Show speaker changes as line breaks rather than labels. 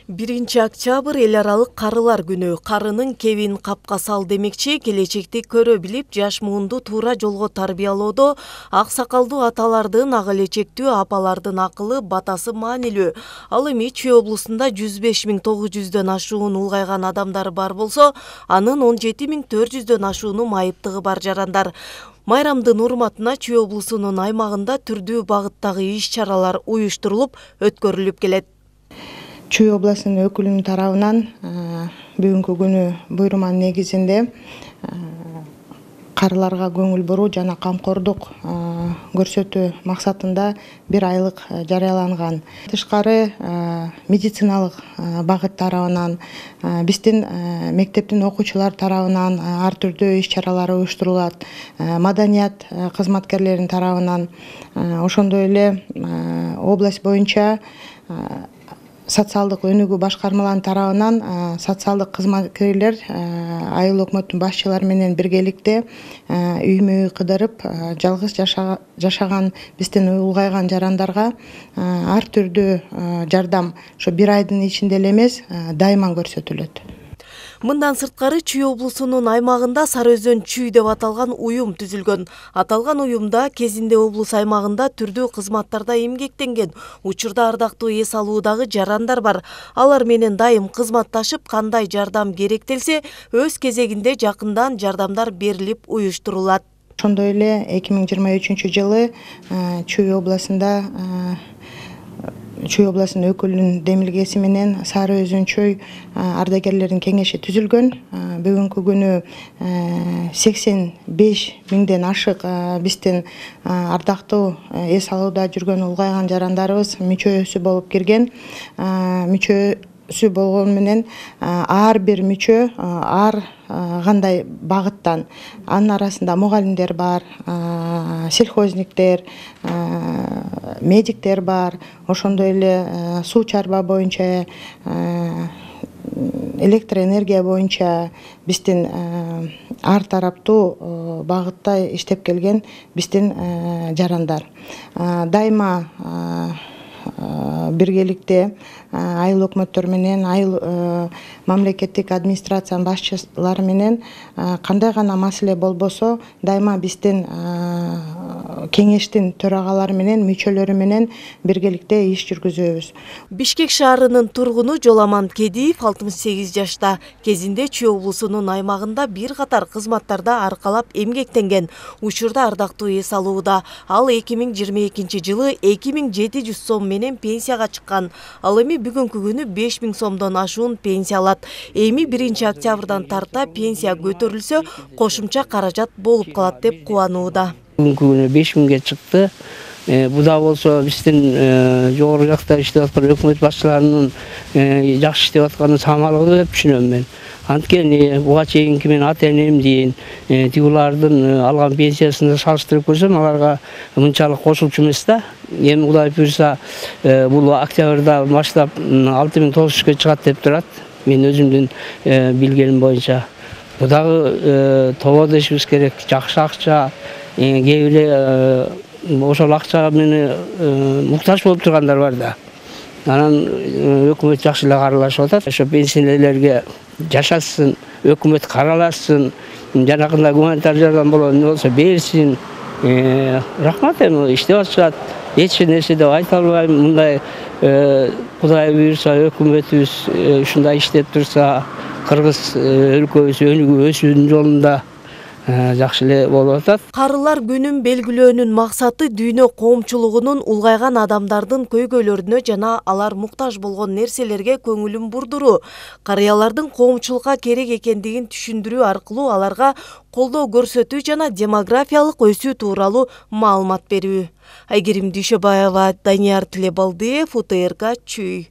1 октябрь эл аралык карылар күнү. Карынын кебин капка сал демекчи, келечекти көрө билип, жаш муунду туура жолго тарбиялоодо ак сакалдуу аталардын, ак элечектүү апалардын акылы, батасы маанилүү. Ал эми Чүй облусунда 105.900дөн ашуун улгайган адамдар бар болсо, анын 17.400дөн ашууну майыптыгы бар жарандар. Майрамдын урматына Чүй облусунун аймагында түрдүү багыттагы иш-чаралар уюштурулуп, өткөрүлүп келет.
Чүй облусунун өкүлүнүн тарабынан бүгүнкү күнү буйруманын негизинде карыларга көңүл буруу жана камкордук көрсөтүү максатында 1 айлык жарыяланган. Тышкары медициналык багыт тарабынан, биздин мектептин окуучулар тарабынан ар түрдүү иш-чаралар уюштурулат. Маданият кызматкерлеринин тарабынан, ошондой эле область боюнча социалдык өнүгүү башкармаларынын тарабынан социалдык кызматкерлер айыл өкмөттүн башчылары менен биргеликте үймө үй кыдырып, жалгыз жашаган биздин улгайган жарандарга ар түрдүү жардам ошо 1 айдын ичинде эле эмес, дайыма көрсөтүлөт.
Мындан сырткары Чүй облусунун аймагында Сары Өзөн Чүй деп аталган уюм түзүлгөн. Аталган уюмда кезинде облус аймагында түрдүү кызматтарда эмгектенген, учурда ардактуу эс алуудагы жарандар бар. Алар менен дайым кызматташып, кандай жардам керектелсе, өз кезегинде жакындан жардамдар берилип уюштурулат.
Ошондой эле 2023-жылы Чүй облусунун өкүлүнүн демилгеси менен Сары Өзөн Чүй ардагерлеринин кеңеши түзүлгөн. Бүгүнкү күнү 85.000ден ашык биздин ардактуу эс алууда жүргөн улгайган жарандарыбыз мүчөсү болуп кирген. Мүчөсү болгону менен ар бир мүчө ар кандай багыттан, анын арасында мугалимдер бар, сельхозниктер, медиктер бар, ошондой эле суу чарба боюнча, электроэнергия боюнча биздин ар тараптуу багытта иштеп келген биздин жарандар. Дайыма биргеликте айыл өкмөттөр менен, айыл мамлекеттик администрациянын башчылары менен кандай гана маселе болбосо, дайыма биздин кеңештин төрагалары менен, мүчөлөрү менен биргеликте иш жүргүзөбүз.
Бишкек шаарынын тургуну Жоламан Кедиев 68 жашта. Кезинде Чүй облусунун аймагында бир катар кызматтарда аркалап эмгектенген. Учурда ардактуу эс алууда. Ал 2022-жылы 2700 сом менен пенсияга чыккан. Ал эми бүгүнкү күнү 5000 сомдон ашуун пенсия алат. Эми 1 октябрдан тарта пенсия көтөрүлсө, кошумча каражат болуп калат деп кубанууда.
Бүгүнкү күнү 5000ге чыкты. Буда болсо биздин жогору жакта иштеп аткан өкмөт башчыларынын жакшы иштеп атканын самалыгы деп түшүнөм мен. Анткени буга чейинки мен ата-энем дейин тигулардын алган пенсиясына салыштырып көрсөм, аларга мынчалык кошулчу эмес да. Эми Кудай буйрса бул октябрда баштап 6900га чыгат деп турат. Мен өзүмдүн билгеним боюнча. Бу дагы тободо ишибиз керек, жакшы акча, кээ эле ошол акча менен муктаж болуп тургандар бар да. Анан өкмөт жакшы эле каралашып атат. Ошо пенсионерлерге жашасын, өкмөт каралашсын, жанагындай гуманитар жардам болсо берсин. Рахмат, эми иштеп атышат. Эч нерсе деп айта албайм. Мындай Кудай буйрса өкмөтүбүз ушундай иштеп турса, кыргыз өлкөбүз өнүгүп өсүүнүн жолунда жакшы эле болуп атат.
Карылар күнүн белгилөөнүн максаты дүйнө коомчулугунун улгайган адамдардын көйгөйлөрүнө жана алар муктаж болгон нерселерге көңүлүн бурдуруу, карыялардын коомчулукка керек экендигин түшүндүрүү аркылуу аларга колдоо көрсөтүү жана демографиялык өсүү тууралуу маалымат берүү. Айгерим Дүйшөбаева, Данияр Тилебалдиев, УТРК, Чүй.